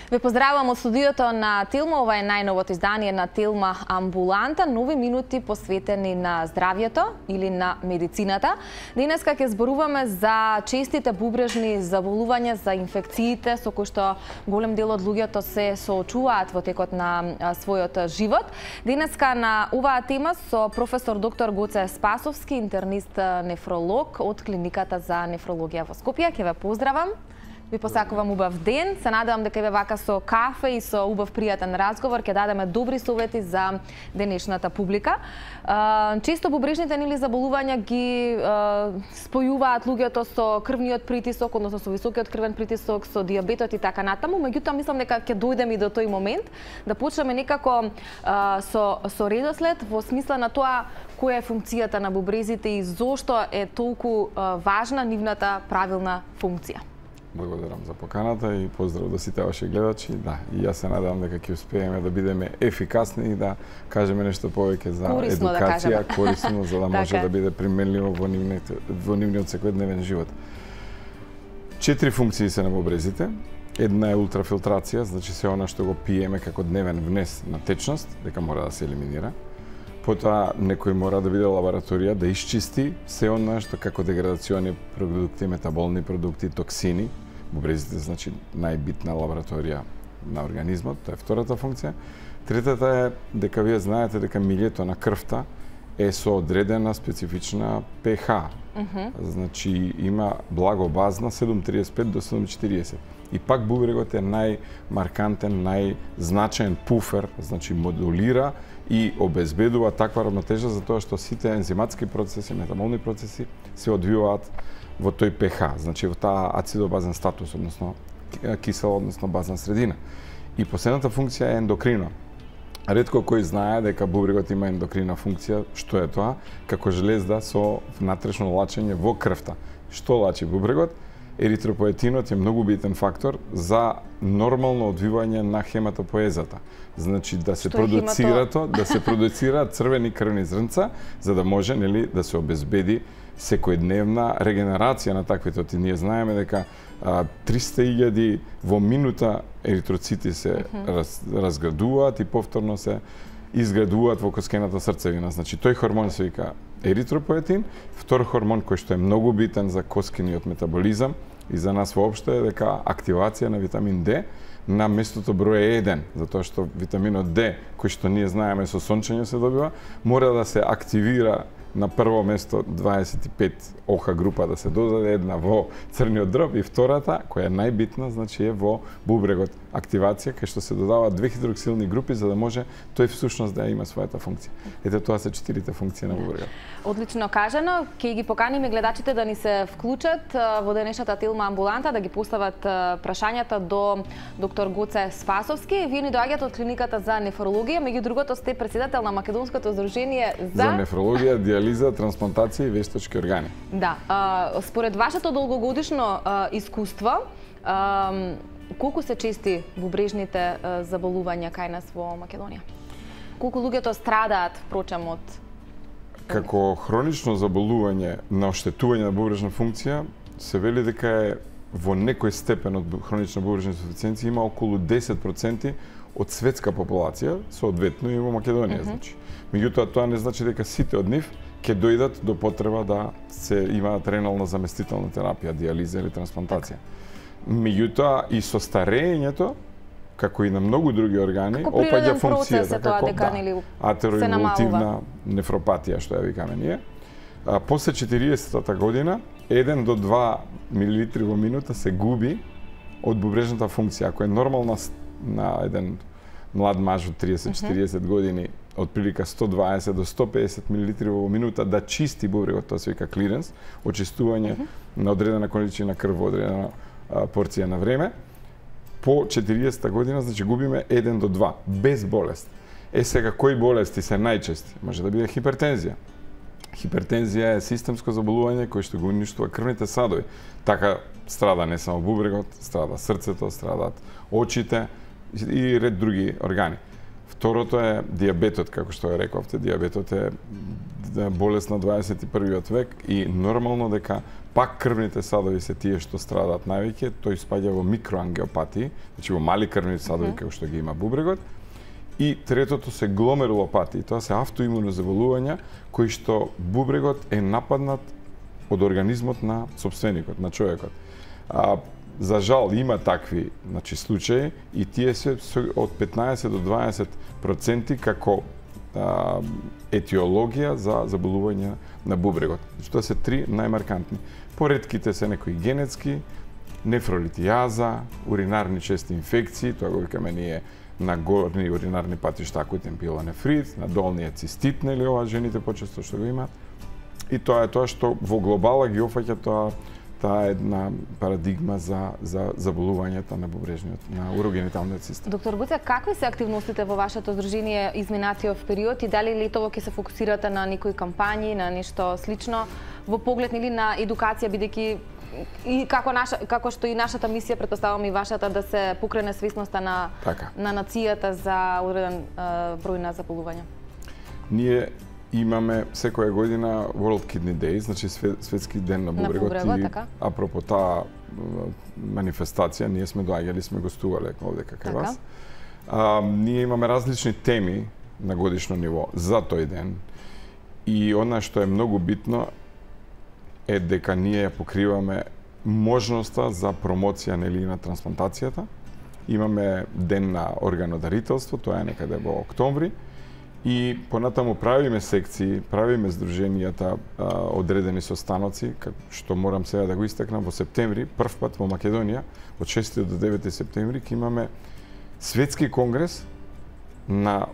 Ве поздравувам од студиото на Тилма. Ова е најновото издание на Тилма Амбуланта. Нови минути посветени на здравјето или на медицината. Денеска ќе зборуваме за честите бубрежни заболувања, за инфекциите со кои што голем дел од луѓето се соочуваат во текот на својот живот. Денеска на оваа тема со професор доктор Гоце Спасовски, интернист нефролог од клиниката за нефрологија во Скопје. Ќе ве поздравам. Ви посакувам убав ден. Се надевам дека ве вака со кафе и со убав пријатен разговор ќе дадеме добри совети за денешната публика. Често бубрежните заболувања ги спојуваат луѓето со крвниот притисок, односно со високиот крвен притисок, со дијабетот и така натаму, меѓутоа мислам дека ќе дојдеме и до тој момент да почнеме некако со редослед во смисла на тоа која е функцијата на бубрезите и зошто е толку важна нивната правилна функција. Благодарам за поканата и поздрав до сите ваши гледачи. Да, и јас се надевам дека ќе успееме да бидеме ефикасни и да кажеме нешто повеќе за корисно, едукација, корисно за да може да биде применливо во нивниот секојдневен живот. 4 функции се на бубрезите. Една е ултрафилтрација, значи се она што го пиеме како дневен внес на течност, дека мора да се елиминира. Потоа некој мора да биде лабораторија да исчисти се она што како деградациони продукти, метаболни продукти, токсини. Бубрезите значи најбитна лабораторија на организмот, тоа е втората функција. Третата е дека вие знаете дека милјето на крвта е со одредена специфична pH. Значи има благобазна 7,35 до 7,40. И пак бубрегот е најмаркантен, најзначаен пуфер, значи модулира и обезбедува таква равнотежа за тоа што сите ензиматски процеси, метаболни процеси се одвиваат во тој pH, значи во таа ацидобазен статус, односно кисела, односно базна средина. И последната функција е ендокрина. Ретко кој знае дека бубрегот има ендокрина функција. Што е тоа? Како железда со внатрешно лачење во крвта. Што лачи бубрегот? Еритропоетинот е многу битен фактор за нормално одвивање на хематопоезата. Значи да се продуцираат црвени крвни зрнца за да може да се обезбеди секојдневна регенерација на таквите. Ние знаеме дека 300.000 во минута еритроцити се разградуваат и повторно се изградуваат во коскената срцевина. Значи тој хормон се вика еритропоетин. Втор хормон кој што е многу битен за коскениот метаболизам и за нас воопшто е дека активација на витамин D на местото број 1, затоа што витаминот D, кој што ние знаеме со сончење се добива, мора да се активира на прво место 25 ОХ група да се додаде, една во црниот дроб и втората, која е најбитна, значи е во бубрегот активација, кај што се додаваат 2 хидроксилни групи за да може тој всушност да има својата функција. Ете тоа се 4 функции на бубрегот. Одлично кажано, ќе ги поканиме гледачите да ни се вклучат во денешната Тилма Амбуланта, да ги постават прашањата до доктор Гоце Спасовски. Вие ни доаѓате од клиниката за нефрологија, меѓу другото сте председател на Македонското здружение за нефрологија, дијализа, трансплантација и вештачки органи. Да, според вашето долгогодишно искуство, колку се чести бубрежните заболувања кај нас во Македонија? Колку луѓето страдаат, впрочем, од... Како хронично заболување на оштетување на бубрежна функција, се вели дека е во некој степен од хронична бубрежна инсуфициенција има околу 10% од светска популација, соодветно и во Македонија, значи. Меѓутоа тоа не значи дека сите од нив ќе дојдат до потреба да се имаат ренална заместителна терапија, дијализа или трансплантација. Меѓутоа и со старењето, како и на многу други органи, опаѓа функцијата како атероинволтивна нефропатија, што ја викаме ние. После 40-та година, 1 до 2 милилитри во минута се губи од бубрежната функција. Ако е нормална на еден млад маж од 30-40 години, од прилика 120 до 150 милилитри во минута да чисти бубрегот, тоа се вика клиренс, очистување на одредена количина крв во одредена порција на време, по 40 година, значи губиме 1 до 2, без болест. Сега, кои болести се најчести? Може да биде хипертензија. Хипертензија е системско заболување кој што го уништува крвните садови. Така страда не само бубрегот, страда срцето, страдат очите и ред други органи. Второто е дијабетот, како што ја рековте. Дијабетот е болест на 21. век и нормално дека пак крвните садови се тие што страдаат највеќе, тој спаѓа во микроангиопатии, значи во мали крвни садови како што ги има бубрегот. И третото се гломерулопатии, тоа се автоимуни заболувања кои што бубрегот е нападнат од организмот на сопственикот, на човекот. За жал има такви, значи, случаи и тие се од 15 до 20% како етиологија за заболување на бубрегот. Значи, тоа се три најмаркантни. Поредките се некои генетски, нефролитијаза, уринарни чести инфекции, тоа го викаме ние на горни уринарни патишта акутен пилонефрит, на долниот цистит, нели ова жените почесто што го имаат. И тоа е тоа што во глобала ги опфаќа таа една парадигма за заболувањата на бубрежниот, на урогениталниот систем. Доктор Гуце, какви се активностите во вашето здружение изминатиот период и дали летово ќе се фокусирате на некои кампањи, на нешто слично во поглед или на едукација, бидејќи и како што и нашата мисија, претпоставувам и вашата, да се покрене свесноста на нацијата за одреден број на заболувања? Ние имаме секоја година World Kidney Day, значи светски ден на бубрегот, и апропо таа манифестација, ние сме доаѓали, сме гостувале овде кај вас. Ние имаме различни теми на годишно ниво за тој ден и она што е многу битно е дека ние ја покриваме можноста за промоција нели на трансплантацијата. Имаме ден на органодарителство, тоа е некаде во октомври. И понатаму правиме секции, правиме здруженијата одредени состаноци, што морам сега да го истакнам, во септември, прв пат во Македонија, од 6 до 9 септември, ќе имаме светски конгрес на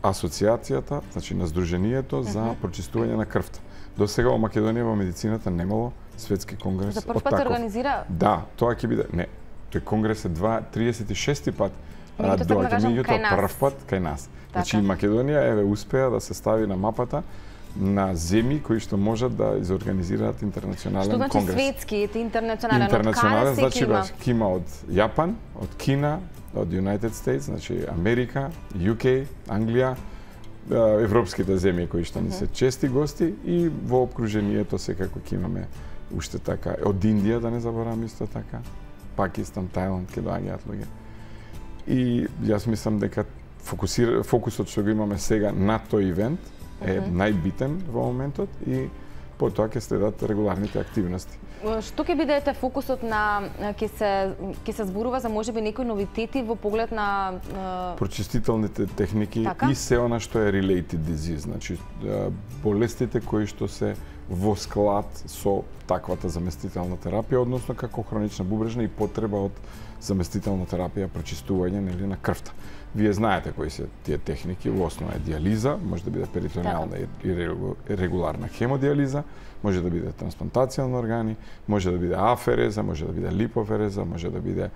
асоциацијата, значи на здруженијето за прочистување на крвта. До сега во Македонија во медицината немало светски конгрес. За прв пат организира? Да, тоа ќе биде, не, тој конгрес е 36 пат. Доаѓа меѓутоа прв пат кај нас. Значи Македонија еве успеа да се стави на мапата на земји кои што можат да изорганизираат интернационален конгрес. Што значи светски, интернационален? Интернационален значи има од Јапан, од Кина, од United States, значи Америка, UK, Англија, европските земји кои што ни се чести гости и во опкружението секако ќе имаме уште така. Од Индија да не заборавам исто така, Пакистан, Тајланд ќе доаѓаат луѓе. И јас мислам дека фокусот што го имаме сега на тој ивент е најбитен во моментот и потоа ќе следат регуларните активности. Што ќе бидете фокусот на ќе се зборува за можеби некои новитети во поглед на прочистителните техники и се она што е related disease, значи болестите кои што се во склад со таквата заместителна терапија, односно како хронична бубрежна и потреба од заместителна терапија, прочистување нели на крвта. Вие знаете кои се тие техники, во основа е диализа, може да биде перитонеална и регуларна хемодиализа, може да биде трансплантација на органи, може да биде афереза, може да биде липофереза, може да биде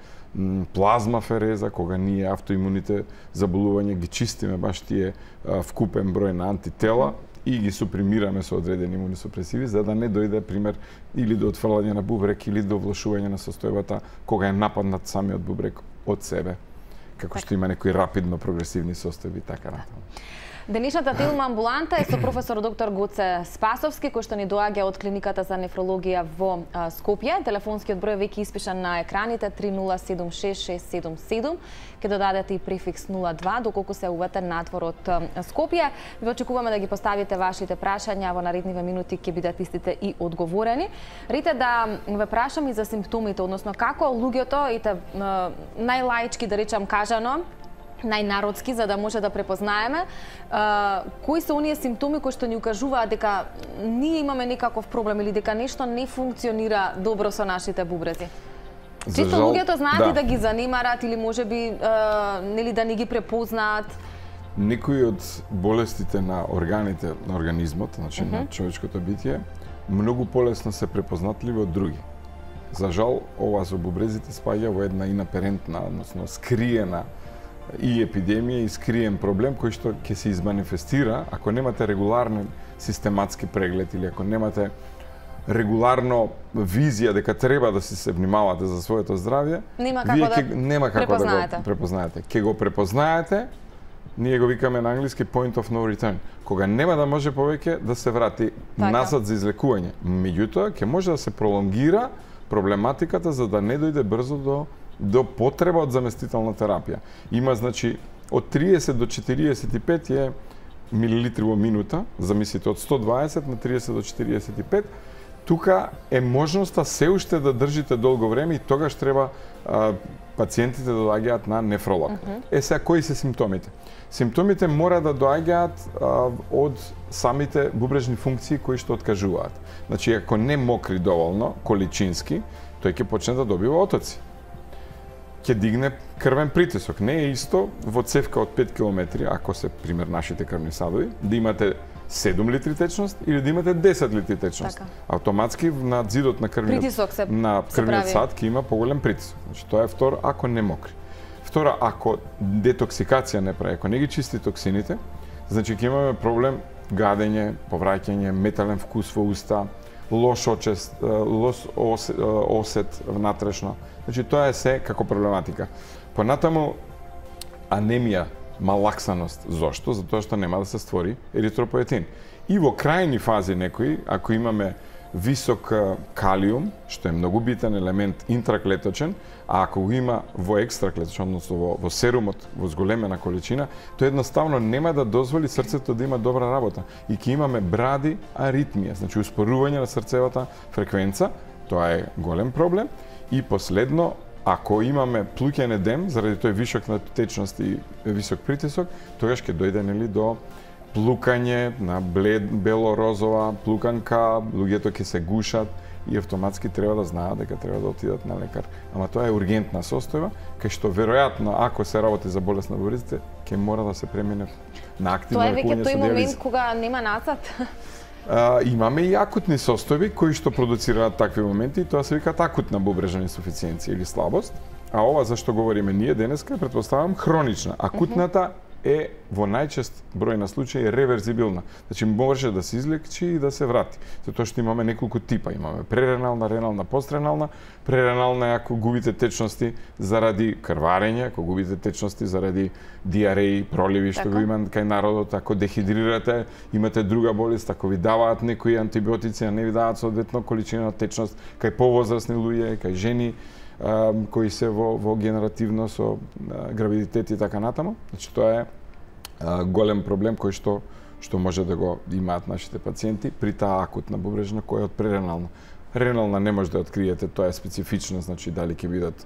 плазмафереза, кога ние автоимуните заболувања ги чистиме баш тие вкупен број на антитела и ги супримираме со одредени имуносупресиви, за да не дојде, пример, или до отфрлање на бубрек, или до влошување на состојбата кога е нападнат самиот бубрек од себе, како што има некои рапидно прогресивни состојби, така натаму. Денешната Тилма амбуланта е со професор доктор Гоце Спасовски, кој што ни доаѓа од клиниката за нефрологија во Скопје. Телефонскиот број веќе испишан на екраните 3076-677. Ке додадете и префикс 02 доколку се увате надвор од Скопје. Ви очекуваме да ги поставите вашите прашања, во наредниве минути ќе бидат истите и одговорени. Рите да ве прашам и за симптомите, односно како луѓето, најлаички да речам кажано, најнародски, за да може да препознаеме кои се оние симптоми кои што ни укажуваат дека ние имаме некаков проблем или дека нешто не функционира добро со нашите бубрези. Често луѓето знаат и да ги занимарат или можеби нели да не ги препознаат. Некои од болестите на органите на организмот, значи на човечкото битие, многу полесно се препознатливи од други. За жал, ова со бубрезите спаѓа во една инаперентна, односно скриена и епидемија и скриен проблем кој што ќе се изманифестира ако немате регуларен систематски преглед или ако немате регуларно визија дека треба да се внимавате за своето здравје, нема како да го препознаете. Ќе го препознаете ние го викаме на англиски point of no return, кога нема да може повеќе да се врати назад за излекување. Меѓутоа, ќе може да се пролонгира проблематиката за да не дојде брзо до потреба од заместителна терапија. Има, значи, од 30 до 45 е милилитри во минута, замислите, од 120 на 30 до 45, тука е можноста се уште да држите долго време и тогаш треба пациентите да доаѓаат на нефролог. Сега, кои се симптомите? Симптомите мора да доаѓаат од самите бубрежни функции кои што откажуваат. Значи, ако не мокри доволно, количински, тој ќе почне да добива отоци. Ќе дигне крвен притисок. Не е исто во цевка од 5 км, ако се пример нашите крвни садови, да имате 7 литри течност или да имате 10 литри течност. Така. Автоматски на зидот на крвниот сад ќе има поголем притисок. Значи тоа е второ, ако не мокри. Второ, ако детоксикација не прави, ако не ги чисти токсините, значи ќе имаме проблем гадење, повраќање, метален вкус во уста, лош осет внатрешно. Значи тоа е се како проблематика. Понатаму анемија, малаксаност. Зошто? Затоа што нема да се створи еритропоетин. И во крајни фази некои, ако имаме висок калиум, што е многу битен елемент интраклеточен, а ако го има во екстраклеточен, односно во серумот, во зголемена количина, тоа едноставно нема да дозволи срцето да има добра работа. И ќе имаме бради аритмија, значи успорување на срцевата фреквенца, тоа е голем проблем. И последно, ако имаме плуќен едем, заради тој вишок на течност и висок притисок, тогаш ќе дојде до плукање на бело-розова плуканка, луѓето ќе се гушат и автоматски треба да знаат дека треба да отидат на лекар. Ама тоа е ургентна состојба, кај што веројатно, ако се работи за болест на бубрезите, ќе мора да се премине на активно лекување со диализа. Тоа е веќе тој момент кога нема назад. Имаме и акутни состојби кои што продуцираат такви моменти и тоа се викаат акутна бубрежна инсуфициенција или слабост. А ова за што говориме ние денеска, претпоставам, хронична. Акутната е во најчест број на случаи реверзибилна. Значи може да се излечи и да се врати. Затоа што имаме неколку типа. Имаме преренална, ренална, постренална. Преренална е ако губите течности заради крварење, ако губите течности заради диареи, проливи што го има кај народот, ако дехидрирате, имате друга болест, ако ви даваат некои антибиотици, а не ви даваат соодветно количина течност, кај повозрасни луѓе, кај жени кои се во генеративно со гравидитет и така натаму. Значи тоа е голем проблем кој што може да го имаат нашите пациенти при таа акутна бубрежна која е од преренална. Ренална не може да откриете, тоа е специфично, значи дали ќе бидат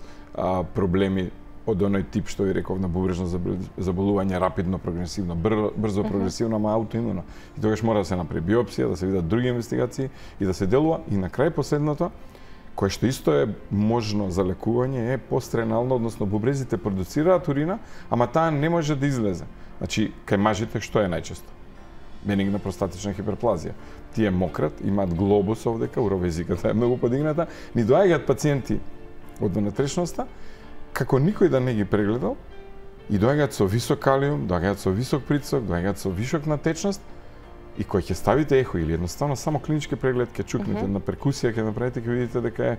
проблеми од оној тип што ви реков на бубрежно заболување рапидно прогресивно, брзо прогресивно, ама аутоимуно. И тогаш мора да се направи биопсија, да се видат други инвестигации и да се делува. И на крај последното, кое што исто е можно за лекување е постренално, односно бубрезите продуцираат урина, ама таа не може да излезе. Значи, кај мажите што е најчесто? Бенигна простатична хиперплазија. Тие мократ, имаат глобус овдека, уровезиката е многу подигната, ни доаѓаат пациенти од внатрешноста, како никој да не ги прегледал, и доаѓаат со висок калиум, доаѓаат со висок притисок, доаѓаат со вишок на течност, и кој ќе ставите ехо или едноставно само клинички преглед ќе чукнете на перкусија, ќе направите, ќе видите дека е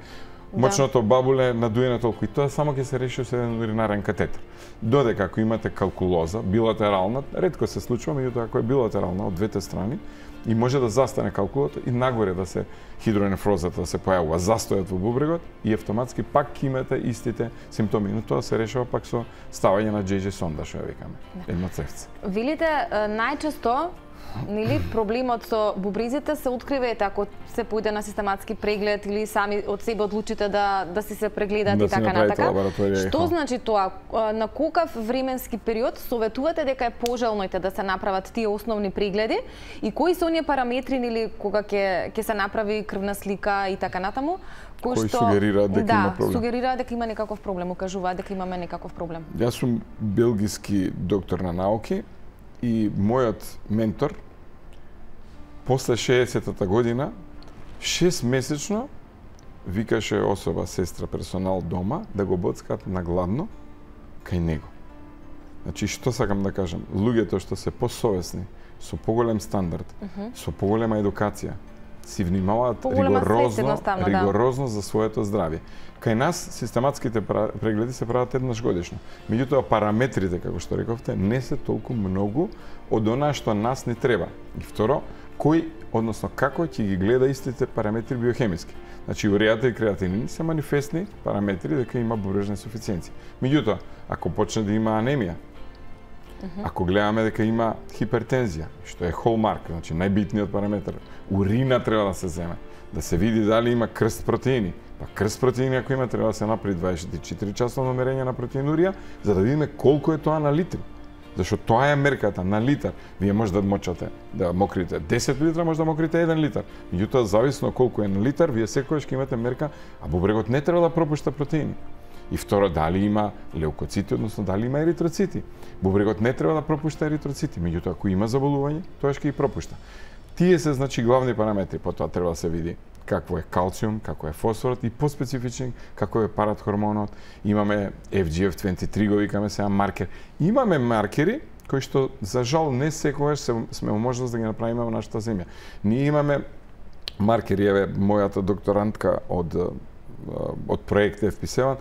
мочното бабуле надуено толку и тоа само ќе се реши со еден уринарен катетер. Додека ако имате калкулоза, билатерална, ретко се случува, меѓутоа ако е билатерална од двете страни и може да застане калкулото и нагоре да се хидронефрозата да се појавува, застојот во бубрегот и автоматски пак ќе имате истите симптоми, но тоа се решава пак со ставање на JJ сонда, што ја викаме, едно цевце. Велите најчесто нели проблемот со бубрезите се открива ако се појде на систематски преглед или сами од себе одлучите да се прегледат и така натака. Што значи тоа? На колкав временски период советувате дека е пожелно да се направат тие основни прегледи и кои се оние параметри или кога ќе се направи крвна слика и така натаму? Кои сугерираат дека има проблем? Сугерираат дека има некаков проблем, укажуваат дека имаме некаков проблем. Јас сум белгиски доктор на науки и мојот ментор после 60-та година 6-месечно викаше особа, сестра, персонал дома да го боцкат на гладно кај него. Значи, што сакам да кажам? Луѓето што се посовесни, со поголем стандард, со поголема едукација, си внимаваат ригорозно за своето здравје. Кај нас систематските прегледи се прават еднаш годишно. Меѓутоа параметрите, како што рековте, не се толку многу од онаа што нас не треба. И второ, кој, односно како ќе ги гледа истите параметри биохемиски. Значи уреата и креатинин се манифестни параметри дека има бубрежна инсуфициенција. Меѓутоа, ако почне да има анемија, ако гледаме дека има хипертензија, што е холмарк, значи најбитниот параметар, урина треба да се земе, да се види дали има крст протеини. Па крст протеини ако има треба да се направи 24 часово мерење на протеинурија, за да видиме колку е тоа на литри. Зашто тоа е мерката на литар. Вие може да мочате, да мокрите 10 литра, може да мокрите 1 литар. Меѓутоа, зависно колку е на литар, вие секогаш ќе имате мерка, а бубрегот не треба да пропушта протеини. И второ, дали има леукоцити, односно дали има еритроцити. Бубрегот не треба да пропушта еритроцити, меѓутоа ако има заболување, тоа ќе ги пропушта. Тие се значи главни параметри, потоа треба да се види какво е калциум, како е фосфорот и поспецифичен како е парахормонот. Имаме FGF23 го викаме сега маркер. Имаме маркери кои што за жал не секогаш сме можност да ги направиме во нашата земја. Ние имаме маркери, еве мојата докторантка од проект FP7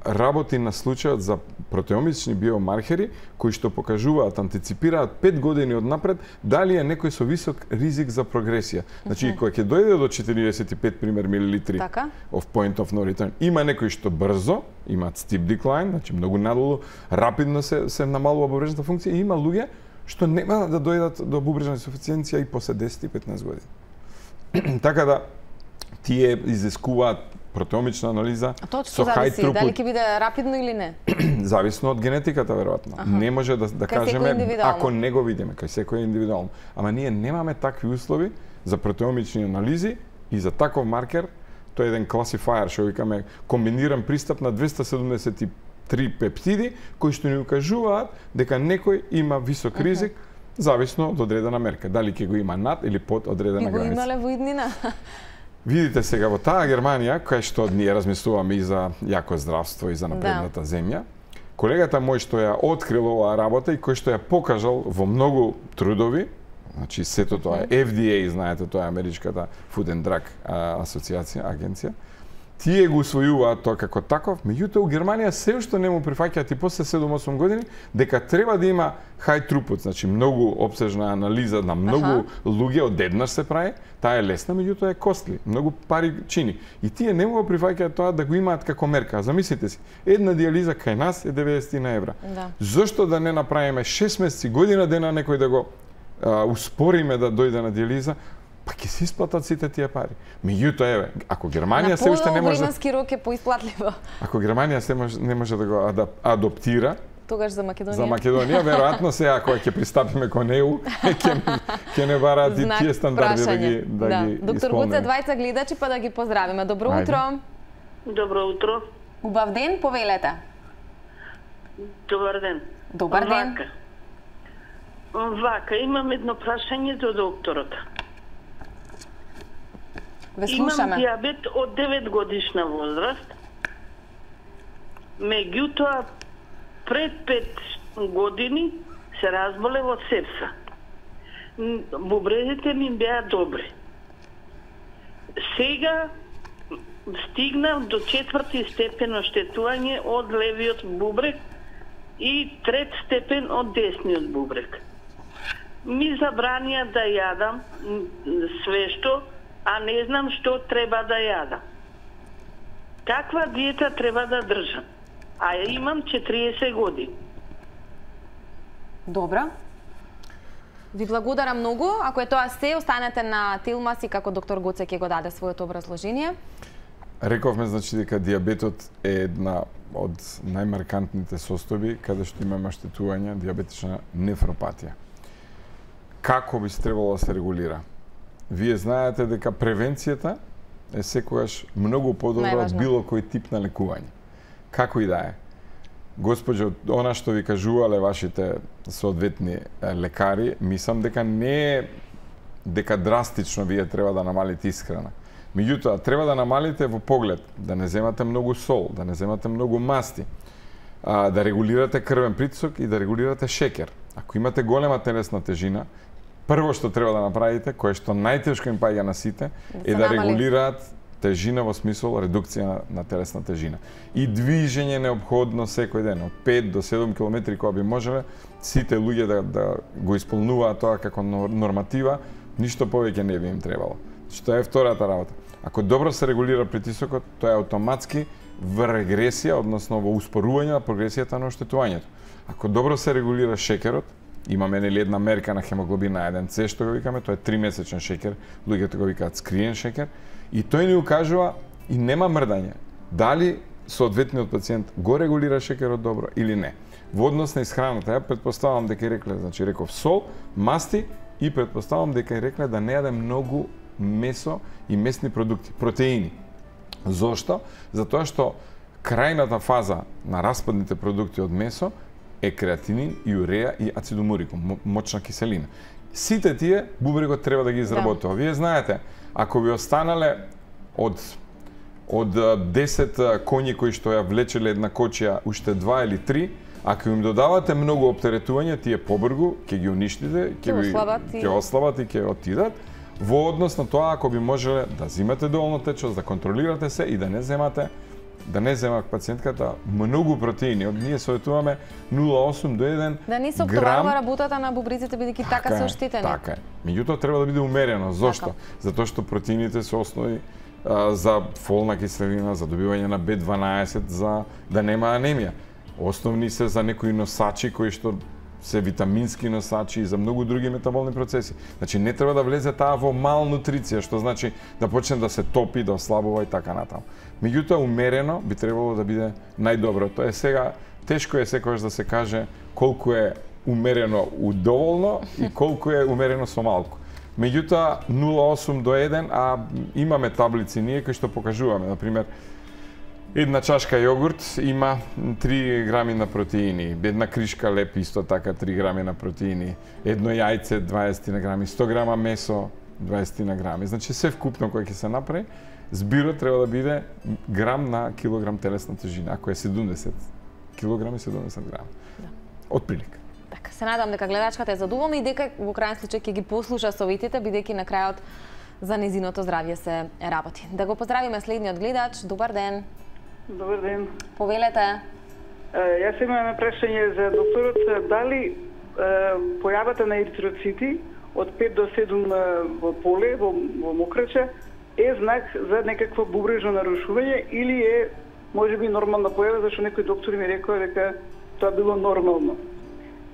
работи на случајот за протеомични биомаркери кои што покажуваат, антиципираат 5 години однапред дали е некој со висок ризик за прогресија. Значи кога ќе дојде до 45 пример милилитри of point of no return, има некои што брзо имаат steep decline, значи многу надолу, рапидно се намалува бубрежната функција, и има луѓе што нема да дојдат до бубрежна инсуфициенција и после 10 и 15 години. Така да тие изискуваат протеомична анализа со хај трупут. Дали ќе биде рапидно или не? Зависно од генетиката веројатно. Не може да кажеме ако не го видиме, кај секој е индивидуално. Ама ние немаме такви услови за протеомични анализи и за таков маркер. Тоа е еден класифајер, што викаме комбиниран пристап на 273 пептиди кои што ни укажуваат дека некој има висок ризик зависно од одредена мерка. Дали ќе го има над или под одредена граница. И го имале во иднина. Видите сега во таа Германија, кај што ние размислуваме и за јако здравство и за напредната земја, колегата мој што ја открил оваа работа и кој што ја покажал во многу трудови, значи сето тоа е FDA, знаете, тоа е Америчката Food and Drug асоциација, агенција, тие го усвојуваат тоа како таков, меѓутоа у Германија се уште не му прифаќаат и после 7-8 години дека треба да има high throughput, значи многу опсежна анализа на многу луѓе одеднаш се прави, таа е лесна, меѓутоа е костли, многу пари чини. И тие не му прифаќаат тоа да го имаат како мерка. Замислите си, една дијализа кај нас е 90 евра. Зошто да не направиме 6 месеци, година дена некој да го успориме да дојде на дијализа? Па ќе се исплатат сите тие пари. Меѓутоа, еве, ако Германија се уште не може... На временски рок е поисплатливо. Ако Германија не може да го адаптира, тогаш за Македонија. За Македонија, веројатно сега кога ќе пристапиме кон ЕУ, ќе не бараат и тие стандарди да ги исполнеме. Доктор Гоце, двајца гледачи па да ги поздравиме. Добро утро. Добро утро. Убав ден, повелете. Добар ден. Добар ден. Вака, имам едно прашање до докторот. Ве слушаме. Имам диабет од 9 годишна возраст. Меѓутоа, пред 5 години се разболев од сепса. Бубрезите ми беа добри. Сега стигнав до 4-ти степен оштетување од левиот бубрек и 3 степен од десниот бубрек. Ми забранија да јадам свешто, а не знам што треба да јадам. Каква диета треба да држам? А имам 40 години. Добро. Ви благодарам многу. Ако е тоа се, останете на Телмас и како доктор Гоце ќе го даде своето образложение. Рековме, значи, дека диабетот е една од најмаркантните состојби каде што имаме оштетување, диабетична нефропатија. Како би требало да се регулира? Вие знаете дека превенцијата е секогаш многу подобра од било кој тип на лекување. Како и да е. Госпоđо, она што ви кажувале вашите соодветни лекари, мислам дека не е дека драстично вие треба да намалите исхрана. Меѓутоа, треба да намалите во поглед, да не земате многу сол, да не земате многу масти, да регулирате крвен притисок и да регулирате шекер. Ако имате голема телесна тежина, прво што треба да направите, кое што најтешко им паѓа на сите, е да регулираат тежина во смисол редукција на телесна тежина. И движење неопходно секој ден, од 5 до 7 километри кога би можеле, сите луѓе да го исполнуваат тоа како норматива, ништо повеќе не би им требало. Што е втората работа. Ако добро се регулира притисокот, тоа е автоматски во регресија, односно во успорување на прогресијата на оштетувањето. Ако добро се регулира шекерот, имаме една мерка на хемоглобин на 1C, што го викаме, тоа е 3-месечен шекер, луѓето го викаат скриен шекер, и тој ни укажува и нема мрдање, дали соодветниот пациент го регулира шекерот добро или не. Во однос на исхраната, ја претпоставам дека рекле, значи реков сол, масти и претпоставам дека рекле да не јаде многу месо и месни продукти, протеини. Зошто? Затоа што крајната фаза на распадните продукти од месо е креатинин, уреа и ацидомурикум, мочна киселина. Сите тие бубрегот треба да ги изработува. Вие знаете, ако ви останале од 10 коњи кои што ја влечеле една кочија уште 2 или 3, ако им додавате многу оптеретување, тие побргу ќе ги уништите, ќе ослабат и ќе отидат. Во однос на тоа, ако би можеле да зимате доволно течност, да контролирате се и да не зема пациентката многу протеини. Ние советуваме 0,8 до 1 грам. Да не се оптоварува работата на бубриците, бидејќи така се оштетени. Така е. Меѓутоа треба да биде умерено. Зошто? Затоа што протеините се основи за фолна киселина, за добивање на B12, за да нема анемија. Основни се за некои носачи кои што се витамински носачи и за многу други метаболни процеси. Значи не треба да влезе таа во малнутриција, што значи да почне да се топи, да ослабува и така натаму. Меѓутоа умерено би требало да биде најдобро. Тоа е сега тешко е секогаш да се каже колку е умерено удоволно и колку е умерено со малку. Меѓутоа 0,8 до 1, а имаме таблици ние кои што покажуваме, на пример, една чашка јогурт има 3 грами на протеини, една кришка леп исто така 3 грами на протеини, едно јајце 20 на грами, 100 грама месо 20 на грами. Значи се вкупно кој ќе се направи, збирот треба да биде грам на килограм телесна тежина, ако е 70 килограми 70 грами. Да. Од прилика. Така, се надам дека гледачката е задоволна и дека во крајен случај ќе ги послуша советите, бидејќи на крајот за незиното здравје се работи. Да го поздравиме следниот гледач. Добар ден. Добар ден. Повелете. Јас имам прашање за докторот. Дали појавата на еритроцити од 5 до 7 во поле, во мокрача, е знак за некакво бубрежно нарушување или е можеби нормална појава, зашто некој доктор ми рекоа дека тоа било нормално.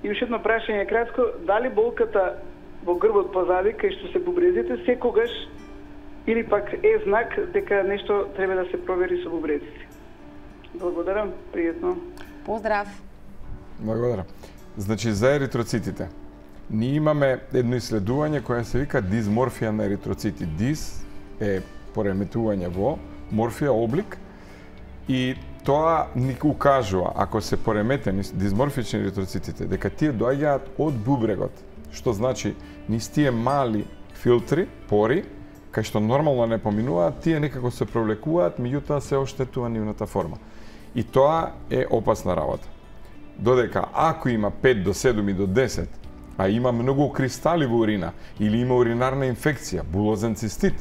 И уште едно прашање кратко, дали болката во грбот позади, кај што се бубрезите, секогаш или пак е знак дека нешто треба да се провери со бубрезите? Благодарам, пријатно. Поздрав. Благодарам. Значи, за еритроцитите. Ние имаме едно исследување кое се вика дисморфија на еритроцити. Дис е пореметување во, морфија облик, и тоа ни укажува, ако се пореметени дисморфични еритроцитите, дека тие доаѓаат од бубрегот, што значи низ тие мали филтри, пори, кај што нормално не поминуваат, тие некако се провлекуваат, меѓутоа се оштетува нивната форма. И тоа е опасна работа. Додека ако има 5 до 7 и до 10, а има многу кристали во урина, или има уринарна инфекција, булозен цистит,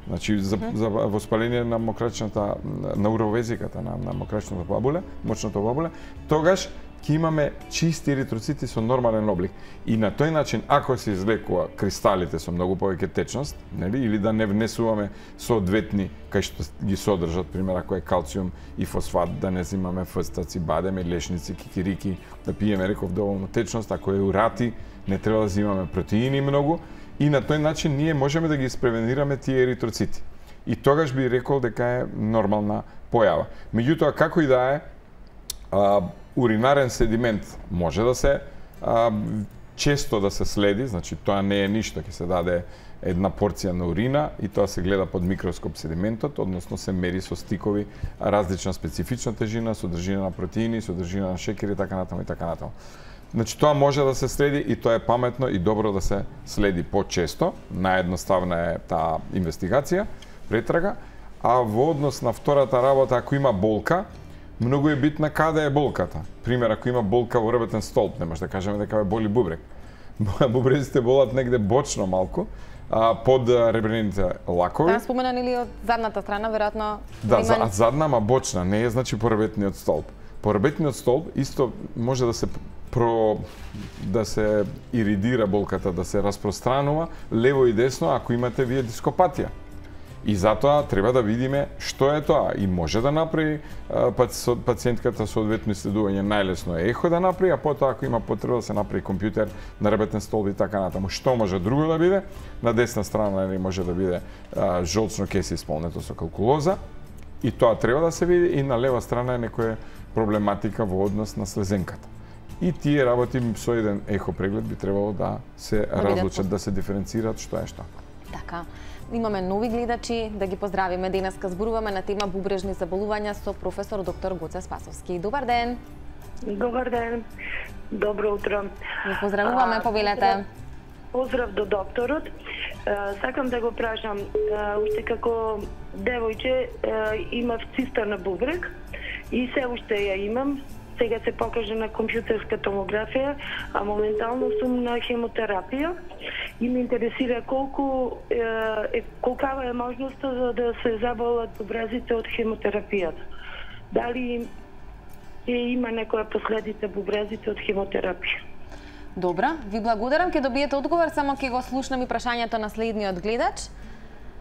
значи за воспаление на мокрачната, на уровезиката, на мокрачната бабула, мочната бабула, тогаш ќе имаме чисти еритроцити со нормален облик. И на тој начин, ако се излекува кристалите со многу повеќе течност, нели, или да не внесуваме соодветни кај што ги содржат, пример, ако е калциум и фосфат, да не взимаме фстаци, бадеме, лешници, кикирики, да пиеме, реков, доволно течност, ако е урати, не треба да взимаме протеини многу, и на тој начин ние можеме да ги испревенираме тие еритроцити. И тогаш би рекол дека е нормална појава. Меѓутоа, како и да е, уринарен седимент може да се често да се следи, значи тоа не е ништо, ќе се даде една порција на урина и тоа се гледа под микроскоп седиментот, односно се мери со стикови различна специфична тежина, содржина на протеини, содржина на шекери и така натаму и така натаму. Значи тоа може да се следи и тоа е паметно и добро да се следи почесто. Наједноставна е таа инвестигација, претрага, а во однос на втората работа, ако има болка, многу е битна каде е болката. Пример, ако има болка во ребетен столб, не може да кажеме дека ве боли бубрек. Бубрезите болат негде бочно малку, под ребрените лакови. Да, споменан или од задната страна, веројатно. Да, задна, ама бочна, не е значи порабетниот столб. Порабетниот столб исто може да се иридира болката, да се распространува лево и десно ако имате вие дископатија. И затоа треба да видиме што е тоа и може да направи пациентката соодветно исследување, најлесно е ехо да направи, а потоа ако има потреба да се направи компјутер на ребетен столб и така натаму. Што може друго да биде? На десна страна може да биде жолчно кеси исполнето со калкулоза и тоа треба да се види, и на лева страна е некоја проблематика во однос на слезенката. И тие работи со еден ехо преглед би требало да се разлучат, да се диференцираат што е што. Така. Имаме нови гледачи, да ги поздравиме. Денеска зборуваме на тема бубрежни заболувања со професор доктор Гоце Спасовски. Добар ден. Добар ден. Добро утро. Ви поздравуваме, повелете. Поздрав до докторот. Сакам да го прашам, уште како девојче имав циста на бубрек и се уште ја имам. Сега се покажа на компјутерска томографија, а моментално сум на хемотерапија и ме интересира колкава е можноста за да се заболат бубрезите од хемотерапијата. Дали има некоја последица бубрезите од хемотерапија? Добра, ви благодарам, ќе добиете одговор, само ќе го слушнам и прашањето на следниот гледач.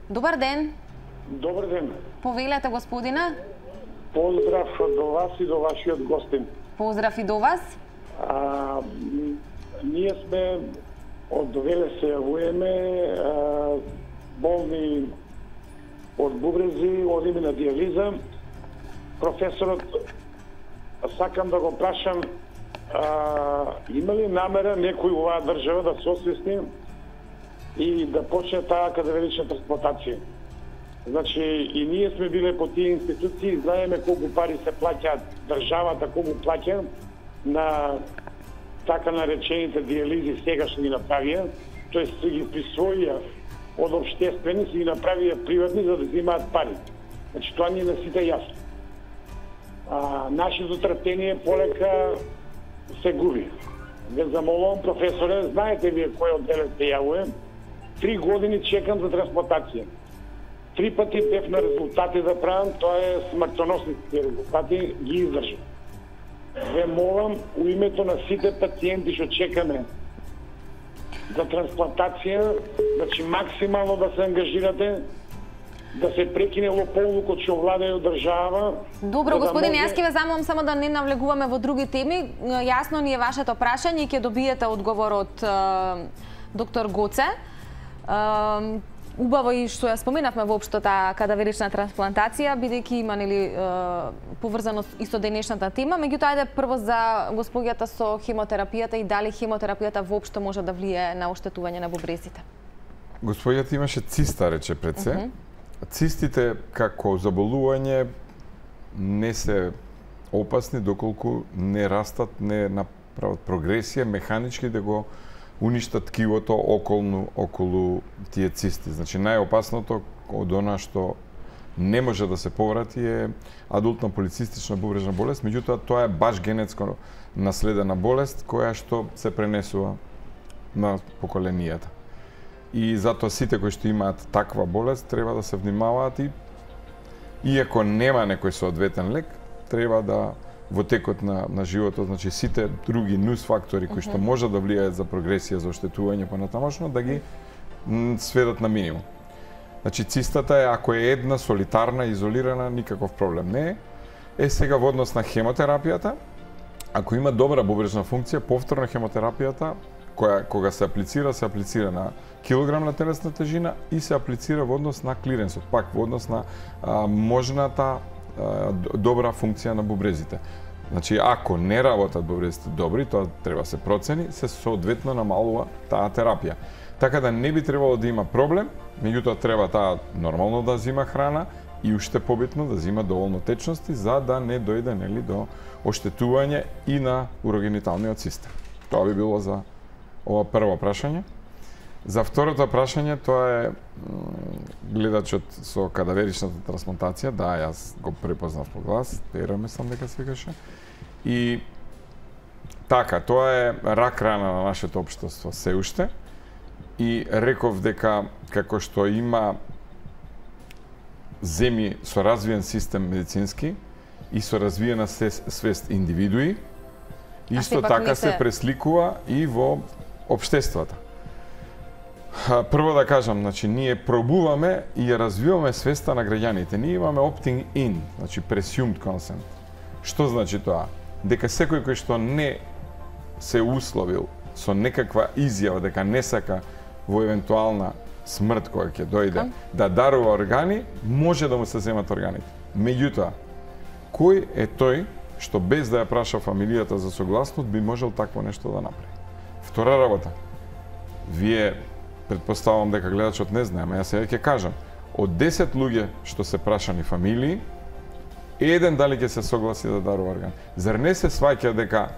Добар ден. Добар ден. Повелете, господине. Поздрав до вас и до вашиот гостин. Поздрав и до вас. Ние сме од довеле се јавуваме болни од бубрези, одиме на диализа. Професорот, сакам да го прашам, има ли намера некој оваа држава да се освести и да почне таа кадаверична трансплантација? Значи, и ние сме биле по тие институции, знаеме колку пари се плаќаат, државата колку плаќа на така наречените диализи сегашни направија, тоест се ги присвоија од општествени, се ги направија приватни за да взимаат пари. Значи, тоа ни е на сите јасно. Нашето трпение полека се губи. Ве замолувам, професоре, знаете вие кој одделе се јавуе, 3 години чекам за трансплантација. 3 пати бев на резултати да правам, тоа е смртоносните резултати, ги издржам. Ве молам, у името на сите пациенти што чекаме за трансплантација, значи максимално да се ангажирате, да се прекине лоповлукот што владае држава. Добро, господине, јас ќе ве замолам само да не навлегуваме во други теми. Јасно ни е вашето прашање и ќе добиете одговор од доктор Гоце. Убаво и што ја споменавме воопшто таа кадаверична трансплантација, бидејќи има поврзано и со денешната тема. Меѓутоа, ајде прво за госпоѓата со хемотерапијата и дали хемотерапијата воопшто може да влијае на оштетување на бубрезите. Госпоѓата имаше циста, рече пред се. Цистите како заболување не се опасни доколку не растат, не направат прогресија механички да го уништат ткивото околу тие цисти. Значи, најопасното од она што не може да се поврати е адултна полицистична бубрежна болест, меѓутоа тоа е баш генетско наследена болест која што се пренесува на поколенијата. И затоа сите кои што имаат таква болест треба да се внимаваат и иако нема некој соодветен лек, треба да во текот на животот, значи сите други нус фактори кои што може да влијаат за прогресија, за оштетување понатамошно, да ги сведат на минимум. Значи цистата е, ако е една солитарна, изолирана, никаков проблем не е. Сега во однос на хемотерапијата, ако има добра бубрежна функција, повторно хемотерапијата, кога се аплицира на килограм на телесна тежина и се аплицира во однос на клиренсот, пак во однос на можната добра функција на бубрезите. Значи, ако не работат бубрезите добри, тоа треба се процени, се соодветно намалува таа терапија. Така да не би требало да има проблем, меѓутоа треба таа нормално да зима храна и уште побитно да зима доволно течности за да не дојде до оштетување и на урогениталниот систем. Тоа би било за ова прво прашање. За второто прашање, тоа е гледачот со кадаверичната трансплантација. Да, јас го препознав по глас, Пера мислам дека се викаше. И Така, тоа е рак рана на нашето општество се уште. И реков дека како што има земји со развиен систем медицински и со развиена свест индивидуи, исто така се пресликува и во општествата. Прво да кажам, значи ние пробуваме и ја развиваме свеста на граѓаните. Ние имаме opting in, значи presumed consent. Што значи тоа? Дека секој кој што не се условил со некаква изјава дека не сака во евентуална смрт која ќе дојде да дарува органи, може да му се земат органите. Меѓутоа, кој е тој што без да ја праша фамилијата за согласност би можел такво нешто да направи? Втора работа. Вие претпоставувам дека гледачот не знае, ама јас сега ќе кажам. Од 10 луѓе што се прашани фамилии, еден дали ќе се согласи да дарува орган. Зар не се сваќа дека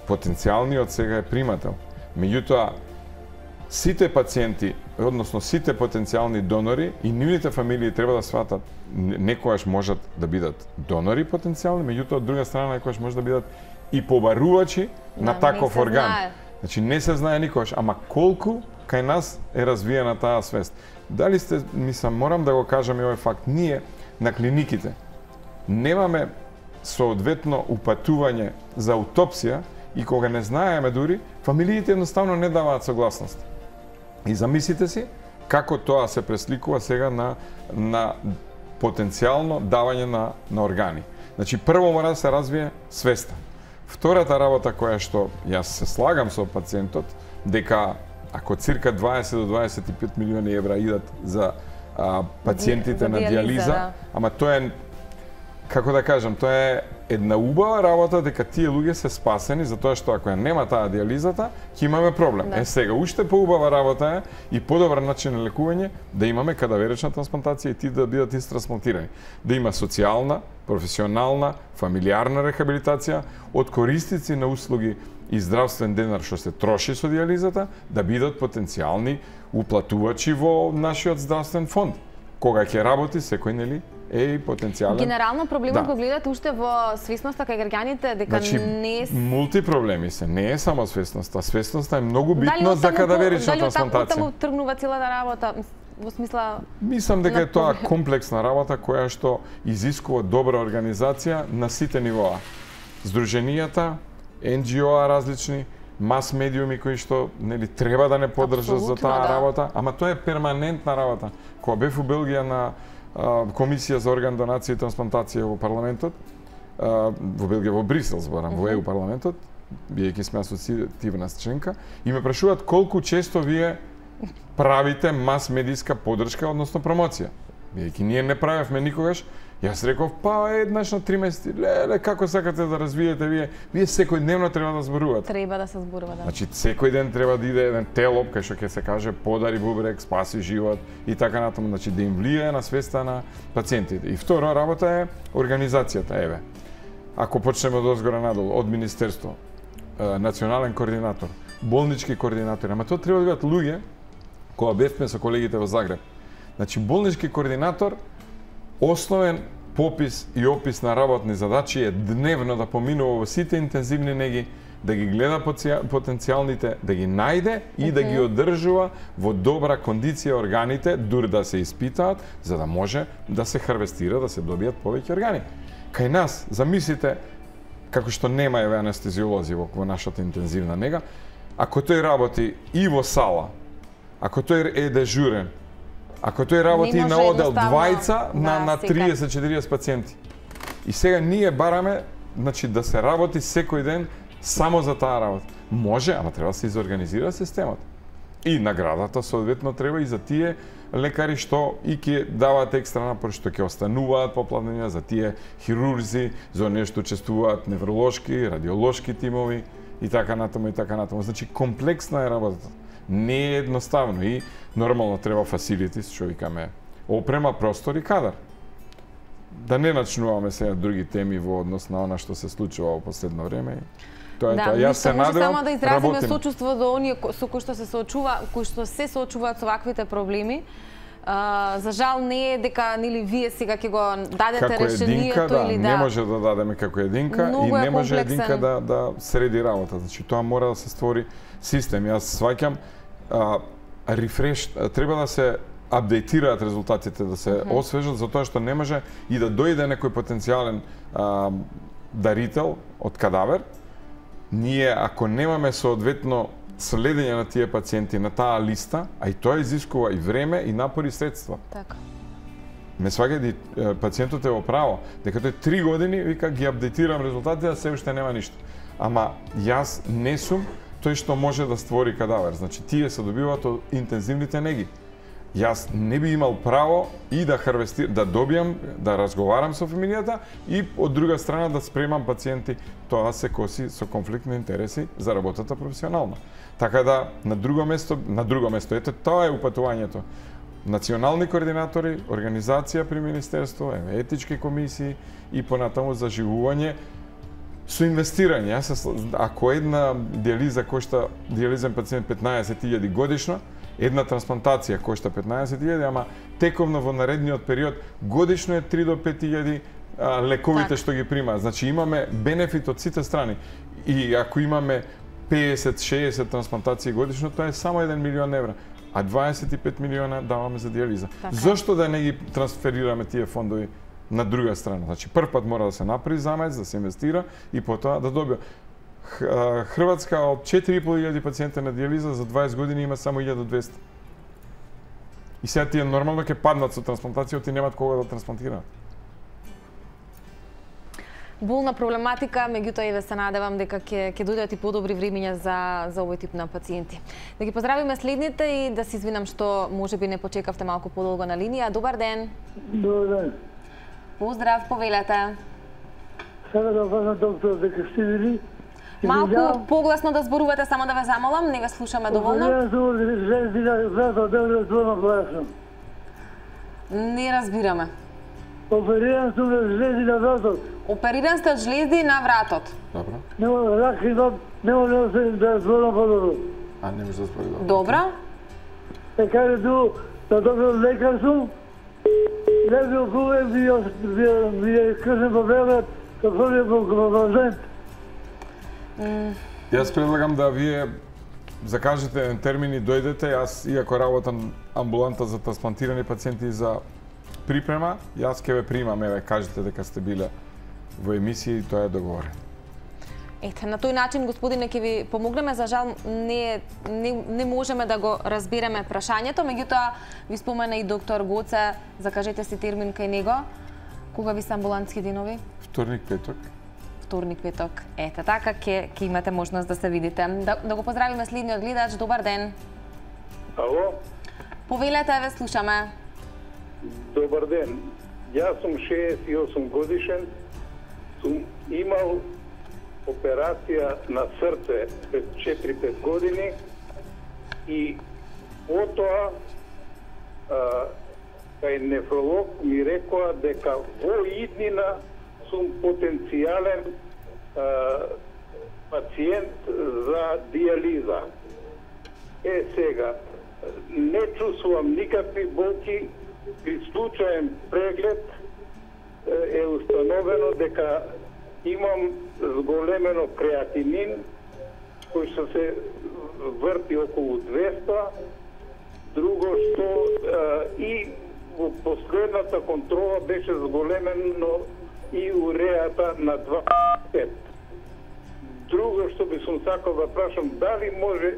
потенцијалниот сега е примател? Меѓутоа, сите пациенти, односно сите потенцијални донори и нивните фамилии треба да сватат некојаш можат да бидат донори потенцијални, меѓутоа од друга страна некојаш може да бидат и побарувачи на таков орган. Значи не се знае никогаш, ама колку кај нас е развиена таа свест. Дали сте, мислам, морам да го кажам и овој факт, ние на клиниките немаме соодветно упатување за аутопсија и кога не знаеме дури, фамилиите едноставно не даваат согласност. И замислите си како тоа се пресликува сега на потенцијално давање на органи. Значи прво мора да се развие свеста. Втората работа која што јас се слагам со пациентот дека ако цирка 20 до 25 милиони евра идат за пациентите на диализа, ама тоа е, како да кажам, тоа е една убава работа дека тие луѓе се спасени затоа што ако ја нема таа диализата, ќе имаме проблем. Да. Сега уште поубава работа е и подобар начин на лекување да имаме кадаверична трансплантација и ти да бидат трансплантирани. Да има социјална, професионална, фамилиарна рехабилитација од користици на услуги и здравствен денар што се троши со диализата, да бидат потенцијални уплатувачи во нашиот здравствен фонд. Кога ќе работи секој, нели, е и потенцијален. Генерално проблемот го гледате уште во свесноста кај граѓаните дека не е мултипроблеми се, не е само свесноста. Свесноста е многу битно за кадаверична трансплантација. Дали таму тргнува целата работа? Во смисла, мислам дека е тоа комплексна работа која што изискува добра организација на сите нивоа. Здруженијата, NGO-а различни, мас медиуми кои што нели треба да не поддржат за таа работа, ама тоа е перманентна работа. Кога бев у Белгија на комисија за орган донација и трансплантација во парламентот, во Белгија, во Брисел зборам, во ЕУ парламентот, биејќи сме асоцијативна членка, и ме прашуваат колку често вие правите мас медиска поддршка, односно промоција. Биејќи ние не правевме никогаш, јас реков, па еднаш на 3 месеци, леле, како сакате да развиете вие? Вие секојдневно треба да зборувате. Треба да се зборува, да. Значи, секој ден треба да иде еден телоп, кај што ќе се каже, подари бубрек, спаси живот и така натаму, значи да им влијае на свеста на пациентите. И второ, работа е организацијата, еве. Ако почнеме од озгора надолу, од министерство, национален координатор, болнички координатори, ама тоа треба да бидат луѓе, кога бевме со колегите во Загреб. Значи, болнички координатор, основен попис и опис на работни задачи е дневно да поминува во сите интензивни неги, да ги гледа потенцијалните, да ги најде и да ги одржува во добра кондиција органите, дури да се испитаат, за да може да се харвестира, да се добијат повеќе органи. Кај нас, замислите, како што нема еве анестезиолози во нашата интензивна нега, ако тој работи и во сала, ако тој е дежурен, ако тој работи на одел двајца на 30-40 пациенти. И сега ние бараме, значи, да се работи секој ден само за таа работа. Може, ама треба да се изорганизира системот. И наградата соодветно треба и за тие лекари што и ќе даваат екстра напор, што ќе остануваат попладнија, за тие хирурзи, за оние што учествуваат невролошки, радиолошки тимови и така натаму и така натаму. Значи комплексна е работата. Не е едноставно и нормално треба фасилитис, што викаме, опрема, простор и кадар. Да не начнуваме сега други теми во однос на она што се случува во последно време. Тоа е тоа. Јас се надевам, само да изразиме сочувство до оние со кои што се соочуваат со ваквите проблеми. За жал не е дека нели вие сега ќе го дадете решението или не може да дадеме како единка и не може единка да среди работа. Значи тоа мора да се створи систем. Јас сваќам рефреш, треба да се апдейтираат резултатите, да се освежат, затоа што не може и да дојде некој потенцијален дарител од кадавер. Ние, ако немаме соодветно следење на тие пациенти на таа листа, а и тоа изискува и време, и напори, и средства. Така. Ме сваќате, пациентот е во право, дека тој 3 години вика ги апдейтирам резултатите, а се уште нема ништо. Ама јас не сум тој што може да створи кадавер. Значи тие се добиваат од интензивните неги. Јас не би имал право и да да добијам, да разговарам со фамилијата и од друга страна да спремам пациенти. Тоа се коси со конфликт на интереси за работата професионално. Така да на друго место, ето тоа е упатувањето. Национални координатори, организација при Министерство, етички комисии и понатаму заживување со инвестирање. Ако една диализа кошта диализен пациент 15.000 годишно, една трансплантација кошта 15.000, ама тековно во наредниот период годишно е 3 до 5.000 лековите што ги примаат. Значи имаме бенефит од сите страни. И ако имаме 50-60 трансплантации годишно, тоа е само 1 милион евра, а 25 милиона даваме за диализа. Така. Зошто да не ги трансферираме тие фондови на друга страна? Значи прв пат мора да се направи замец, да се инвестира и потоа да добија. Хрватска од 4.500 пациенти на диализа за 20 години има само 1200. И сега тие нормално ќе паднат со трансплантацијата и немаат кога да трансплантираат. Болна проблематика, меѓутоа еве се надевам дека ќе дојдат и подобри времиња за овој тип на пациенти. Да ги поздравиме следните и да се извинам што можеби не почекавте малку подолго на линија. Добар ден. Добар ден. Поздрав, повелете. Сега да кажам доктор дека сте били. Малку погласно да зборувате, само да ве замолам, не ве слушаме доволно. Не разбираме. Опериран сум на жлези на вратот. Опериран сте од жлези на вратот. Добро. Нема рак и не може да зборам подобро. А не може да збори добро. Добро. Е каде ту, да доктор лекар сум, леби околу ми кршен по бебет, да први по пациент. Јас предлагам да вие закажете термин и дојдете. Јас, иако работам амбуланта за трансплантирани пациенти за припрема, јас ќе ве примам, еве, кажете дека сте биле во емисија и тоа е договорено. Ете, на тој начин, господине, ќе ви помогнеме. За жал, не можеме да го разбереме прашањето, меѓутоа ви спомена и доктор Гоце, закажете си термин кај него. Кога ви се амбулантски денови? Вторник, петок. Вторник, петок. Ете, така ќе имате можност да се видите. Да го поздравиме следниот гледач. Добар ден. Ало? Повелете, ве слушаме. Добар ден. Јас сум 68 годишен, сум имал операција на срце пред 4-5 години и потоа кај нефролог ми рекоа дека во иднина сум потенцијален пациент за диализа. Сега, не чувствувам никакви болки, при случаен преглед е установено дека имам зголемено креатинин, кој што се врти околу 200, друго што и во последната контрола беше зголемено и уреата на 25. Друго што би сум сакал да прашам, дали може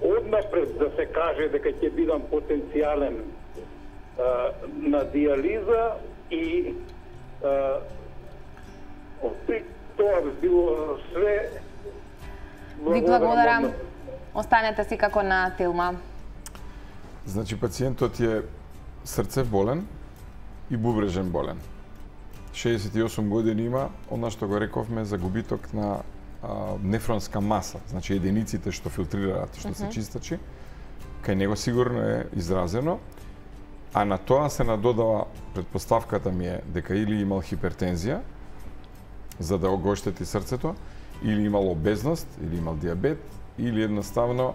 однапред да се каже дека ќе бидам потенцијален на диализа и тоа би било све. Ви благодарам. Останете си како на Телма. Значи, пациентот е срцев болен и бубрежен болен. 68 години има, она што го рековме за губиток на нефронска маса, значи единиците што филтрираат, што се чистачи, кај него сигурно е изразено, а на тоа се надодава, предпоставката ми е дека или имал хипертензија, за да го оштети срцето, или имал обезност, или имал диабет, или едноставно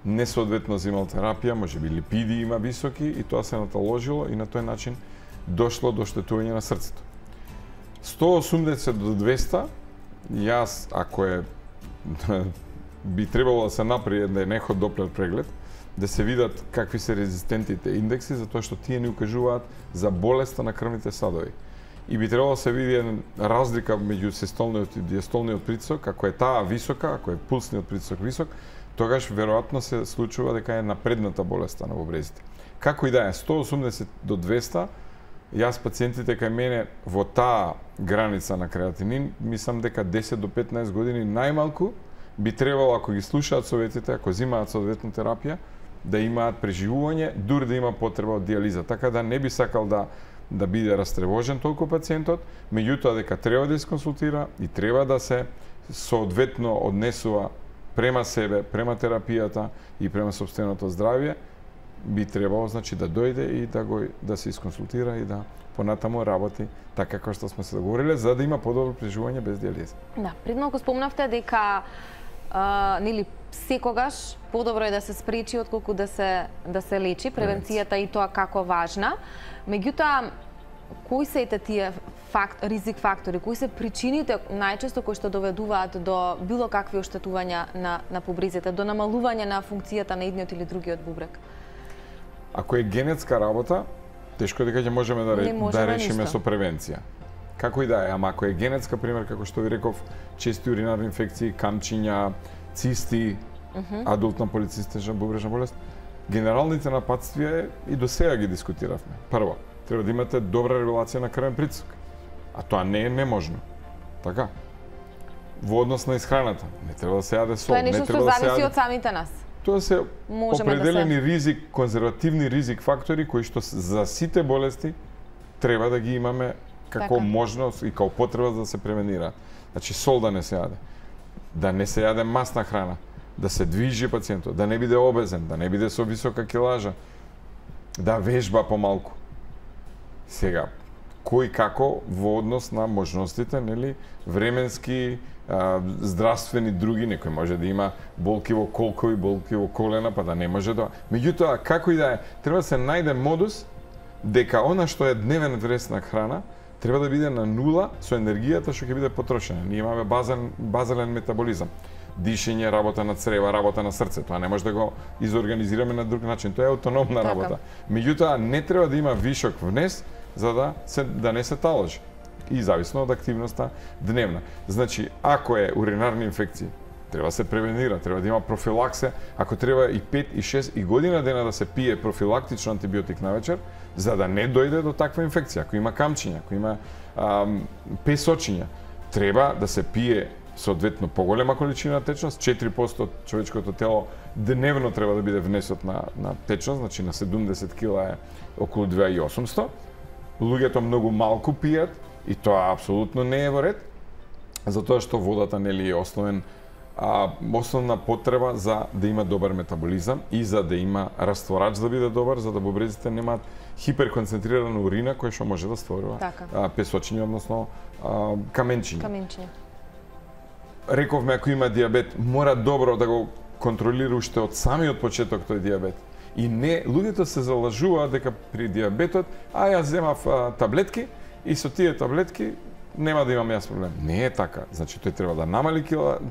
несоодветно земал терапија, можеби липиди има високи и тоа се наталожило и на тој начин дошло до оштетување на срцето. 180 до 200, јас, ако е, би требало да се направи неход доплер преглед, да се видат какви се резистентите индекси, затоа што тие ни укажуваат за болеста на крвните садови. И би требало да се види разлика меѓу систолниот и диастолниот притисок, ако е таа висока, ако е пулсниот притисок висок, тогаш веројатно се случува дека е напредната болеста на бубрезите. Како и да е, 180 до 200, јас пациентите кај мене во таа граница на креатинин, мислам дека 10 до 15 години најмалку би требало, ако ги слушаат советите, ако земаат соодветна терапија, да имаат преживување, дури да има потреба од диализа. Така да не би сакал да биде растревожен толку пациентот, меѓутоа дека треба да исконсултира и треба да се соодветно однесува према себе, према терапијата и према сопственото здравје, би требало значи да дојде и да се исконсултира и да понатаму работи така како што сме се договориле, за да има подобро преживување без диализа. Да, пред малку спомнавте дека нели секогаш подобро е да се спречи отколку да се лечи, превенцијата и тоа како важна. Меѓутоа, кои се тие ризик фактори, кои се причините најчесто кои што доведуваат до било какви оштетувања на бубрезите, до намалување на функцијата на едниот или другиот бубрек? Ако е генетска работа, тешко дека ќе можеме да решиме со превенција. Како и да е, ама ако е генетска, пример, како што ви реков, чести уринарни инфекции, камчиња, цисти, адултна полицистична бубрежна болест, генералните напатствија и до сега ги дискутиравме. Прво, треба да имате добра регулација на крвен притисок, а тоа не е неможно. Така? Во однос на исхраната, не треба да се јаде сол, не треба да се јаде... Тоа е нешто што зависи од самите нас. Тоа се определени ризик, конзервативни ризик фактори кои што за сите болести треба да ги имаме како можност и како потреба да се превенира. Значи сол да не се јаде, да не се јаде масна храна, да се движи пациентот, да не биде обезен, да не биде со висока килажа, да вежба помалку. Сега, кој како во однос на можностите, нели, временски, здравствени други, некој може да има болки во колкови, болки во колена, па да не може да... Меѓутоа, како и да е, треба да се најде модус дека она што е дневен вресна храна, треба да биде на нула со енергијата што ќе биде потрошена. Ние имаме базален метаболизам. Дишење, работа на црева, работа на срце. Тоа не може да го изорганизираме на друг начин. Тоа е автономна работа. Меѓутоа, не треба да има вишок внес за да не се таложи. И зависно од активноста дневна. Значи, ако е уринарни инфекции, треба да се превенира, треба да има профилаксе, ако треба и 5, и 6, и година дена да се пие профилактично антибиотик навечер, за да не дојде до таква инфекција. Ако има камчиња, ако има песочиња, треба да се пие соодветно поголема количина течност, 4% од човечкото тело дневно треба да биде внесот на течност, значи на 70 кила е околу 2800. Луѓето многу малку пијат и тоа апсолутно не е во ред, затоа што водата нели е основна потреба за да има добар метаболизам и за да има растворач да биде добар, за да бубрезите немаат хиперконцентрирана урина која што може да створува песочиња, односно каменчиња. Рековме, ако има диабет, мора добро да го контролира уште од самиот почеток тој диабет. И не, луѓето се залажуваат дека при диабетот, јас земав таблетки и со тие таблетки нема да имам јас проблем. Не е така. Значи, тој треба да намали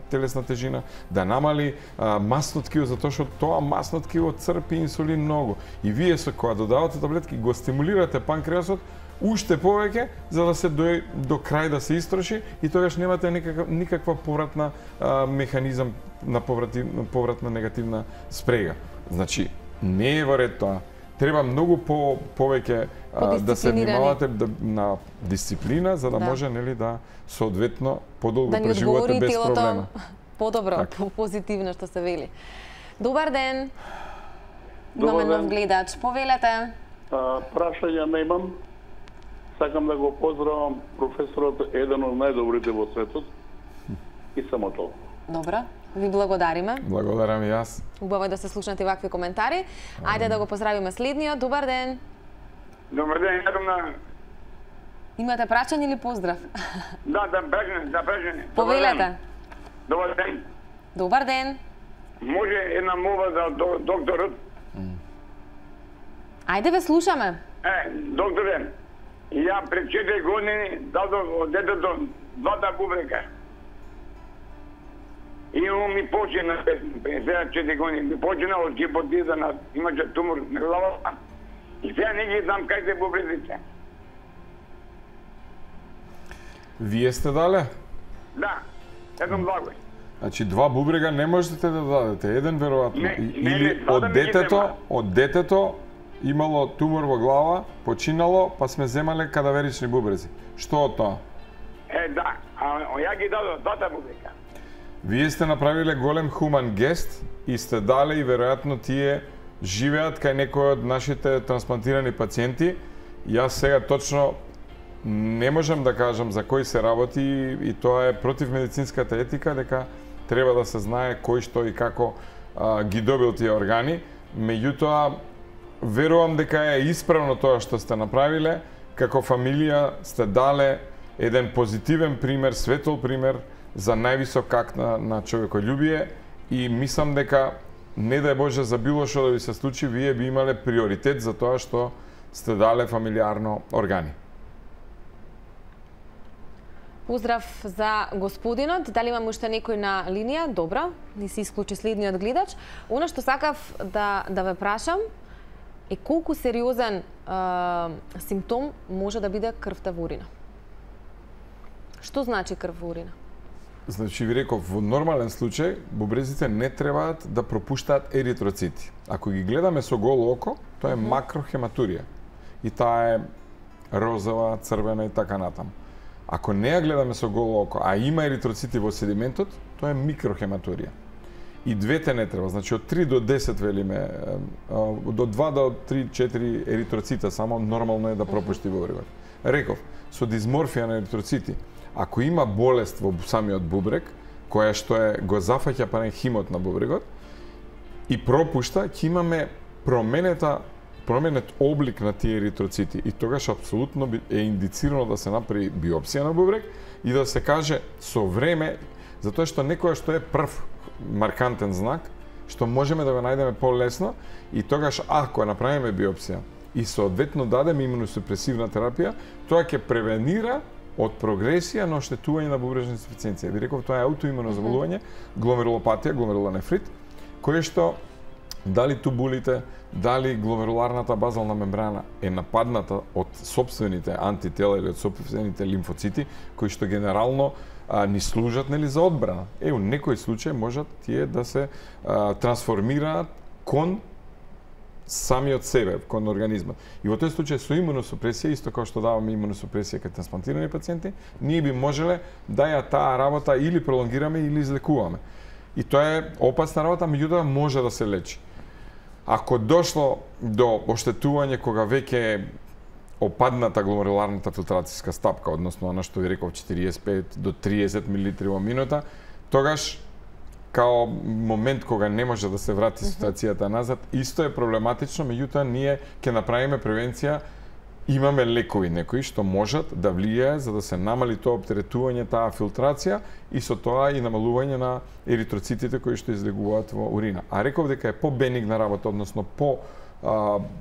телесна тежина, да намали масно ткиво, затоа што тоа масно ткиво црпи инсулин многу. И вие кога додавате таблетки, го стимулирате панкреасот уште повеќе, за да се до крај да се истроши и тогаш немате никаква повратна механизам на повратна негативна спрега. Значи, не е во ред тоа. Треба многу повеќе да се внимавате на дисциплина, за да може нели да соодветно подолго преживувате без проблема. Да ни одговори телото подобро, позитивно што се вели. Добар ден. Имаме нов гледач. Повелете. Прашање немам. Сакам да го поздравам професорот, еден од најдобрите во светот. И само тоа. Добро. Ви благодариме. Благодарам и јас. Убаво е да се слушнете вакви коментари. Ајде да го поздравиме следниот. Добар ден. Добар ден, јадам. Имате прашање или поздрав? Да, прашање. Повелете. Добар ден. Добар ден. може една молба за докторот? Ајде ве слушаме. Докторе, ја пред 4 години дадов од детето 2 бубрека. И он ми почина, 54 години, ми почина од гипотиза, имаше тумор на главата. И сега не ги знам кај се бубреците. Вие сте дале? Да, еден благој. Значи 2 бубрега не можете да дадете, еден веројатно. Или од детето имало тумор во глава, починало, па сме земале кадаверични бубрези. Што од тоа? Да, ја ги дадов 2 бубрека. Вие сте направиле голем хуман гест и сте дале и веројатно тие живеат кај некој од нашите трансплантирани пациенти. Јас сега точно не можам да кажам за кој се работи и тоа е против медицинската етика, дека треба да се знае кој што и како ги добил тие органи. Меѓутоа, верувам дека е исправно тоа што сте направиле. Како фамилија сте дале еден позитивен пример, светол пример за највисок акт на човеколюбие и мислам дека не дај Боже за било што да ви се случи, вие би имале приоритет за тоа што сте дале фамилиарно органи. Поздрав за господинот. Дали имаме уште некој на линија? Добро, ни се исклучи следниот гледач. Она што сакав да ве прашам е колку сериозен симптом може да биде крвта во урина? Што значи крв во урина? Значи, ви реков, во нормален случај, бубрезите не требаат да пропуштаат еритроцити. Ако ги гледаме со голо око, тоа е макрохематурија. И таа е розова, црвена и така натаму. Ако не ја гледаме со голо око, а има еритроцити во седиментот, тоа е микрохематурија. И двете не треба, значи од 3 до 10 велиме, до 2 до 3-4 еритроцита само нормално е да пропушти бубрегот. Реков, со дисморфија на еритроцити, ако има болест во самиот бубрек, која што го зафаќа паренхимот на бубрегот и пропушта, ќе имаме променет облик на тие еритроцити и тогаш апсолутно е индицирано да се направи биопсија на бубрек и да се каже со време, затоа што некоја што е прв маркантен знак, што можеме да го најдеме полесно и тогаш ако направиме биопсија и соодветно дадеме имуносупресивна терапија, тоа ќе превенира од прогресија на оштетување на бубрежна инсуфициенција. Ви реков, тоа е аутоимуно заболување, гломерулопатија, гломерулонефрит, кој што дали тубулите, дали гломеруларната базална мембрана е нападната од сопствените антитела или од сопствените лимфоцити, кои што генерално ни служат за одбрана. У некој случај можат тие да се трансформираат кон самиот себе, кон организмот. И во тој случај со имуносупресија, исто како што даваме имуносупресија кај трансплантирани пациенти, ние би можеле да ја таа работа или пролонгираме или излекуваме. И тоа е опасна работа, меѓутоа може да се лечи. Ако дошло до оштетување кога веќе опадната гломеруларната филтрацијска стапка, односно она што ви реков 45 до 30 мл во минута, тогаш као момент кога не може да се врати ситуацијата назад, исто е проблематично, меѓутоа ние ќе направиме превенција. Имаме лекови некои што можат да влијае за да се намали тоа оптеретување, таа филтрација и со тоа и намалување на еритроцитите кои што излегуваат во урина. А реков дека е по-бенигна работа, односно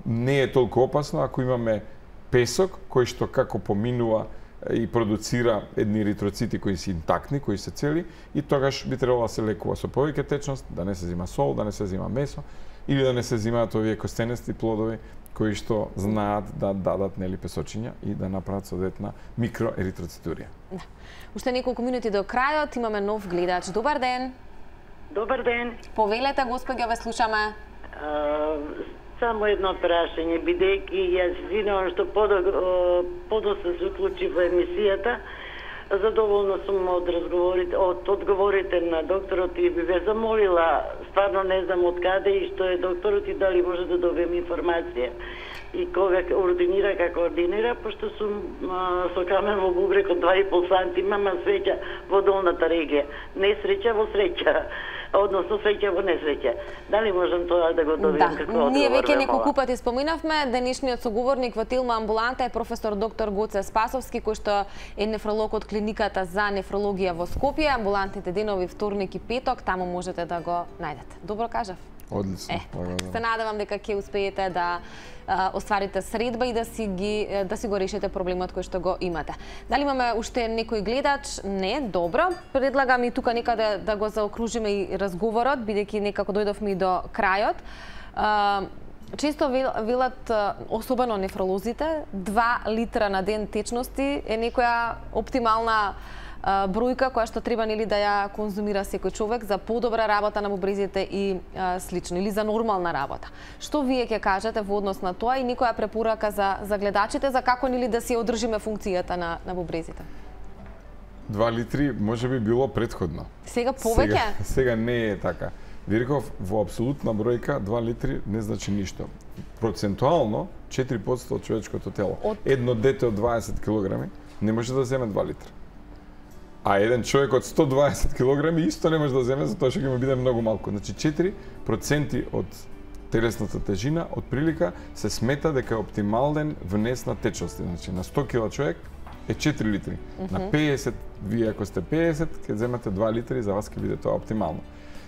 не е толку опасно ако имаме песок кој што како поминува и продуцира едни еритроцити кои се интактни, кои се цели и тогаш би требало да се лекува со повеќе течност, да не се зима сол, да не се зима месо или да не се зимаат овие костенести плодови кои што знаат да дадат песочиња и да направат соодветна микроеритроцитурија. Да. Уште неколку минути до крајот, имаме нов гледач. Добар ден. Добар ден. Повелете, господја, ве слушаме. Само едно прашање, бидејќи јас извинувам што подоста се уклучи во емисијата, задоволна сум од одговорите на докторот и би ве замолила, стварно не знам од каде и што е докторот и дали може да добием информација и кога ординира, како ординира, пошто сум со камен во бубрек од 2,5 сантима, ма среќа во долната регија. Не среќа во среќа. односно среќа во несреќа. Дали можам тоа да го добијам како одговор? Ние веќе неколку пати споминавме, денешниот соговорник во Тилма амбуланта е професор доктор Гоце Спасовски, кој што е нефролог од клиниката за нефрологија во Скопје. Амбулантните денови вторник и петок, таму можете да го најдете. Добро кажав? Одлично. Се надевам дека ќе успеете да остварите средба и да си го решите проблемот кој што го имате. Дали имаме уште некој гледач? Не, добро. Предлагам и тука некаде да го заокружиме и разговорот, бидејќи некако дојдовме и до крајот. Често велат, особено нефролозите, 2 литра на ден течности е некоја оптимална бројка која што треба да ја конзумира секој човек за подобра работа на бубрезите и слично, или за нормална работа. Што вие ќе кажете во однос на тоа и некоја препорака за гледачите за како да си одржиме функцијата на бубрезите? 2 литри може би било претходно. Сега повеќе? Сега не е така. Вирков, во апсолутна бројка 2 литри не значи ништо. Процентуално 4% од човечкото тело. Едно дете од 20 кг не може да земе 2 литра. А еден човек од 120 кг исто не може да земе, затоа што ќе му биде многу малку. Значи 4% од телесната тежина од прилика се смета дека е оптимален внес на течности. Значи на 100 кг човек е 4 литри. На 50, вие ако сте 50, ќе земете 2 литри, за вас ќе биде тоа оптимално.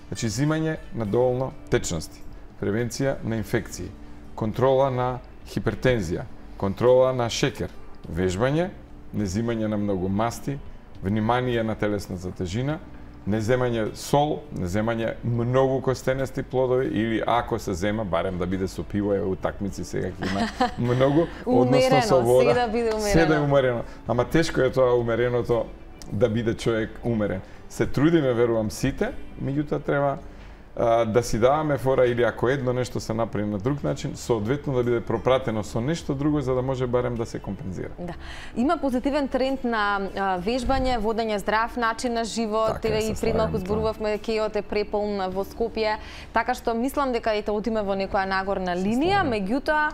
Значи зимање на доволно течности, превенција на инфекции, контрола на хипертензија, контрола на шекер, вежбање, незимање на многу масти, внимание на телесната тежина, неземање сол, неземање многу костенести плодови или ако се зема, барем да биде со пиво, утакмици сега ќе има многу, односно со вода. Се да е умерено. Ама тешко е тоа умереното да биде човек умерен. Се трудиме, верувам сите, меѓутоа треба да си даваме фора или ако едно нешто се направи на друг начин, соодветно да биде пропратено со нешто друго за да може барем да се компензира. Да. Има позитивен тренд на вежбање, водење здрав начин на живот, така, и пред малку зборувавме кејот е преполн во Скопје, така што мислам дека ете одиме во некоја нагорна линија, меѓутоа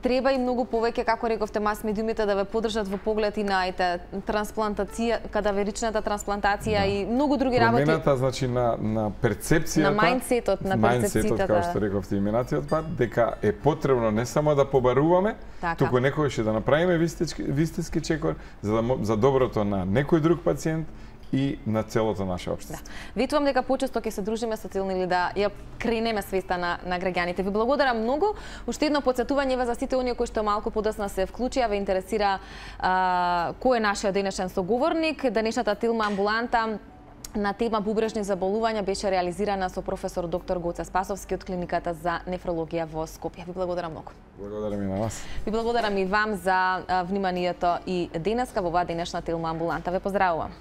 треба и многу повеќе, како рековте, мас медиумите да ве поддржат во поглед и на трансплантација, кадаверичната трансплантација и многу други работи. Промената, значи, на перцепцијата, на мајндсетот, на перцепцијата, како што рековте именацијот пат, дека е потребно не само да побаруваме, туку некогаш да направиме вистински чекор за доброто на некој друг пациент и на целото наше општество. Ветувам дека почесто ќе се дружиме со цел или да ја кренеме свеста на граѓаните. Ви благодарам многу. Уште едно потсетување за сите оние кои што малку подоцна се вклучија, ве интересира кој е нашиот денешен соговорник. Денешната Тилма амбуланта на тема бубрежни заболувања беше реализирана со професор доктор Гоце Спасовски од клиниката за нефрологија во Скопје. Ви благодарам многу. Благодарам и на вас. Ви благодарам и вам за вниманието и денеска во оваа денешна Тилма амбуланта. Ве поздравувам.